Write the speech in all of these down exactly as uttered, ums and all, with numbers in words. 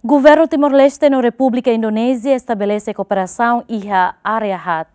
Governu Timor-Leste no Repúblika Indonézia estabelese kooperasaun iha área haat.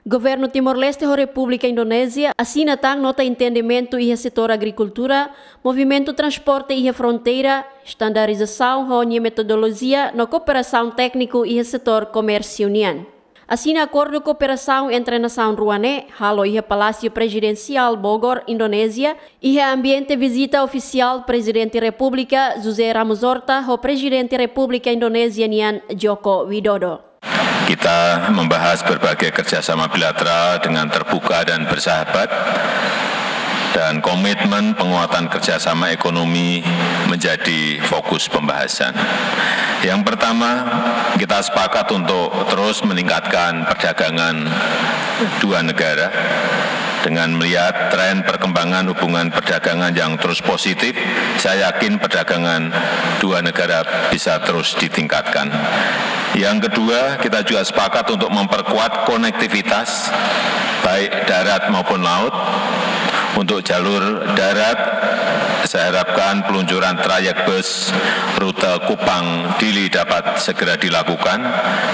Governu Timor-Leste ho Repúblika Indonézia asina tan nota entendimentu iha setór agrikultura, movimentu transporte iha fronteira, estandarizasaun ho nia metodolojia no kooperasaun tékniku iha setór komérsiu nian. Asina akordu kooperasaun entre nasaun rua ne'e halo iha Palásiu Prezidensiál Bogor, Indonézia, iha ambiente vizita ofisiál Prezidente Repúblika José Ramos Horta ho Prezidente Repúblika Indonézia nian Joko Widodo. Kita membahas berbagai kerjasama bilateral dengan terbuka dan bersahabat, dan komitmen penguatan kerjasama ekonomi menjadi fokus pembahasan. Yang pertama, kita sepakat untuk terus meningkatkan perdagangan dua negara. Dengan melihat tren perkembangan hubungan perdagangan yang terus positif, saya yakin perdagangan dua negara bisa terus ditingkatkan. Yang kedua, kita juga sepakat untuk memperkuat konektivitas, baik darat maupun laut. Untuk jalur darat, saya harapkan peluncuran trayek bus rute Kupang Dili dapat segera dilakukan,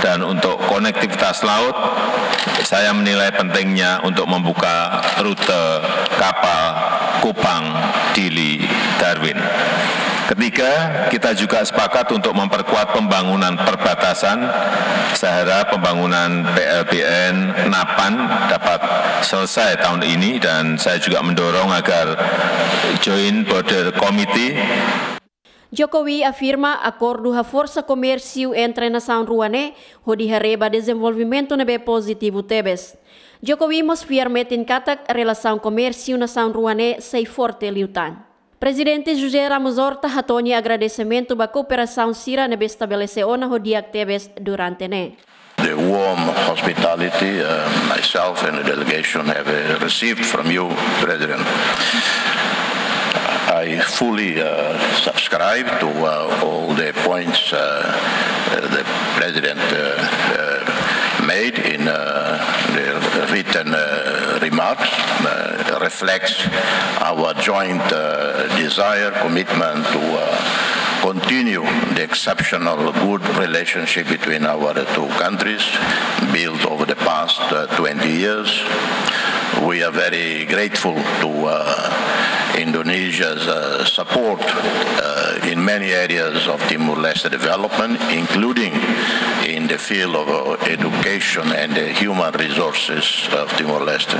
dan untuk konektivitas laut, saya menilai pentingnya untuk membuka rute kapal Kupang Dili Darwin. Ketiga, kita juga sepakat untuk memperkuat pembangunan perbatasan. Saya harap pembangunan P L B N Napan dapat selesai tahun ini, dan saya juga mendorong agar Joint Border Committee. Jokowi afirma akordu haforsa komérsiu entre nasaun rua ne'e hodi haree ba dezenvolvimentu ne'ebé pozitivu tebes. Jokowi mós fiar metin katak relasaun komérsiu nasaun rua ne'e sei forte liután. Prezidente José Ramos Horta hato'o nia agradesimentu ba kooperasaun sira ne'ebé estabelese ona ho di'ak tebes durante ne'e. The warm hospitality, uh, myself and the delegation have, uh, received from you, President. I fully, uh, subscribe to, uh, all the points, uh, uh, the President, uh, uh, made in, uh, the written, uh, remarks, uh, reflects our joint, uh, desire, commitment to, uh, continue the exceptional good relationship between our two countries, built over the past, uh, twenty years. We are very grateful to, uh, Indonesia's, uh, support, uh, in many areas of Timor-Leste development, including in the field of, uh, education and the human resources of Timor-Leste.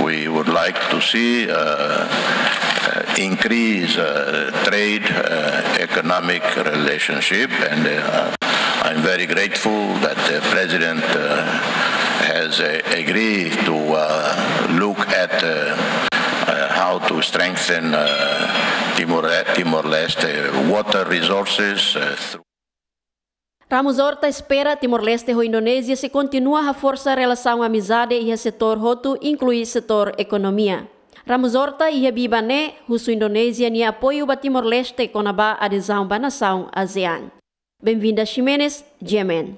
We would like to see, uh, uh, increase, uh, trade, uh, economic relationship, and, uh, I'm very grateful that the President, uh, has, uh, agreed to, uh, look at, uh, uh, how to strengthen, uh, Timor-, Timor-Leste water resources, uh, through Ramos Horta espera Timor-Leste ho Indonézia sei kontinua haforsa relasaun amizade iha setór hotu, inklui setór ekonomia. Ramos Horta iha biban ne'e husu Indonézia nia apoiu ba Timor-Leste kona-ba adezaun ba nasaun ASEAN. Benvinda Ximenes, G M N.